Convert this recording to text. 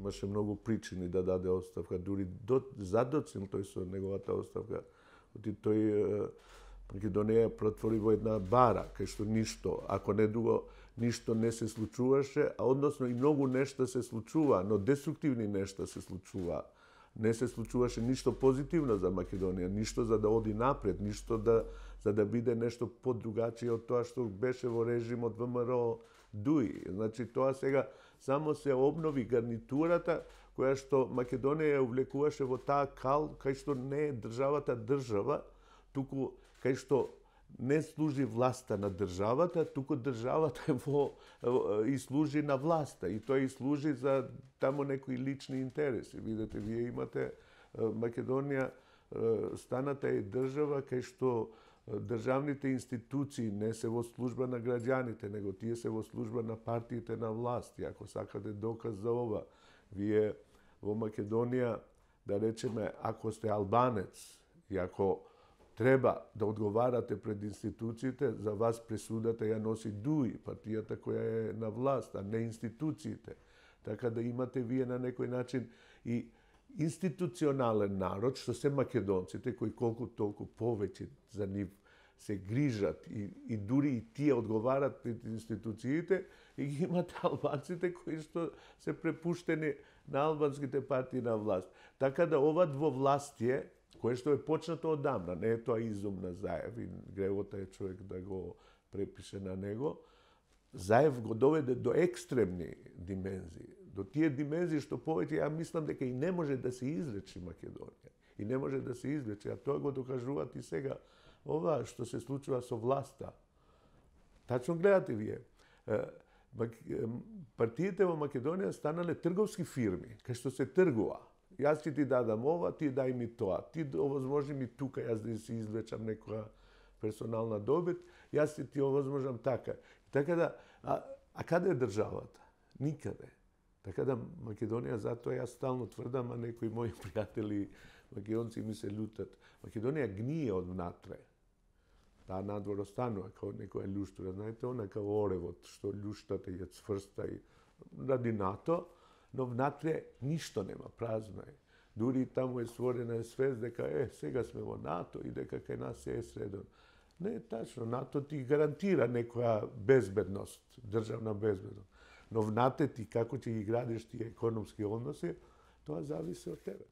имаше многу причини да даде оставка, дури задоцил тој со неговата оставка. Тој Македонија претвори во една бара, кај што ништо, ако не друго, ништо не се случуваше, а односно и многу нешта се случува, но деструктивни нешта се случува. Не се случуваше ништо позитивно за Македонија, ништо за да оди напред, ништо за да биде нешто подругачие од тоа што беше во режимот ВМРО ДУИ. Значи тоа сега само се обнови гарнитурата која што Македонија ја увлекуваше во таа кал кај што не е државата држава, туку кај што не служи власта на државата, туку државата и служи на власта. И тоа и служи за тамо некои лични интереси. Видете, вие имате Македонија, станата е држава кај што државните институции не се во служба на граѓаните, него тие се во служба на партиите на власт. И ако сакате доказ за ова, вие во Македонија, да речеме, ако сте албанец и ако треба да одговарате пред институциите, за вас пресудата ја носи ДУИ, партијата која е на власт, а не институциите. Така да имате вие на некој начин и институционален народ, што се македонците, кои колку толку повеќе за нив се грижат и дури и тие одговарат пред институциите, и ги имате албанците кои што се препуштени на албанските партии на власт. Така да ова двовластие, кое што е почнато одамна, не е тоа изум на Заев, и гревота е човек да го препише на него, Заев го доведе до екстремни димензии, до тие димензии што повеќе ја мислам дека и не може да се излечи Македонија. И не може да се излечи, а тоа го докажуваат и сега ова што се случува со власта. Тачно гледате вие, партиите во Македонија станале трговски фирми, кај што се тргува. Јас ќе ти дадам ова, ти дај ми тоа. Ти овозможи ми тука, јас да си извлечам некоја персонална добит, јас ќе ти овозможам така. Така да, а каде е државата? Никаде. Така да Македонија, затоа јас стално тврдам, а некои мои пријатели македонци ми се лутат. Македонија гние од внатре. Таа надвор останува како некоја љуштура. Знаете, она како оревот, што љуштата ја цврста и ради НАТО, но внатре ништо нема, празно е. Дури таму е створена свест дека сега сме во НАТО и дека кај нас се е средно. Не е тачно, НАТО ти гарантира некоја безбедност, државна безбедност. Но внатре ти како ќе ги градиш тие економски односи, тоа зависи од тебе.